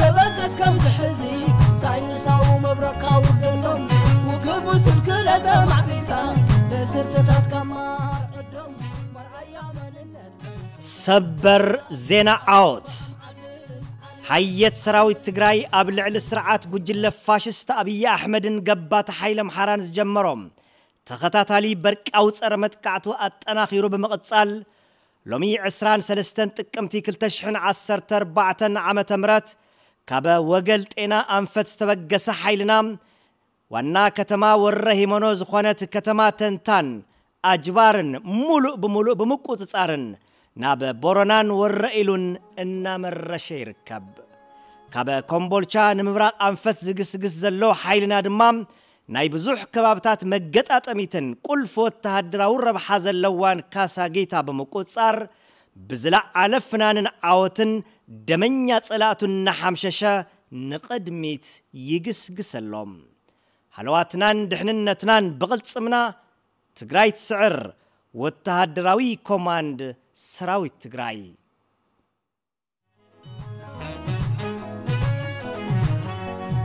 ተበገስ ከም ዝሕዚ ሳይንሳዊ መብረቕካ ውርደሎም። ውግቡ ስንክለተ ማዕቢልካ በስርትታት ካብ ማርዕዶም። መርኣያ መንነት ሰበር ዜና ዓወት። ሓየት ሰራዊት ትግራይ ኣብ ልዕሊ ስርዓት ጉጅለ ፋሽስት ኣብይ ኣሕመድን ገባቲ ሓይለ ኣምሓራን ዝጀመሮም ተኸታታሊ በርቃዊ ጸረ መጥቃዕቱ ኣጠናኺሩ ብምቕጻል፣ ሎሚ ዕስራን ሰለስተን ጥቅምቲ ክልተ ሽሕን ዓሰርተ ኣርባዕተን ዓመተ ምህረት ካብ ወገል ጤና ኣንፈት ዝተበገሰ ሓይልና ዋና ከተማ ወረ ሂመኖ ዝኾነት ከተማ ተንታን ኣጅባርን ሙሉእ ብሙሉእ ብምቁጽጻርን ናብ ቦረናን ወረ ኢሉን እናመረሸ ይርከብ። ካብ ኮምቦልቻ ንምብራቕ ኣንፈት ዝግስግስ ዘሎ ሓይልና ድማ ናይ ብዙሕ ከባብታት መገጣጠሚትን ቁልፍ ወተሃደራዊ ረብሓ ዘለዋን ካሳጊታ ብምቁጽጻር ብዝለዓለ ፍናንን ዓወትን ደመኛ ጸላእቱ እናሓምሸሸ ንቕድሚት ይግስግሰሎም። ሃለዋትናን ድሕንነትናን ብቕልጽምና ትግራይ ትስዕር። ወተሃደራዊ ኮማንድ ሰራዊት ትግራይ።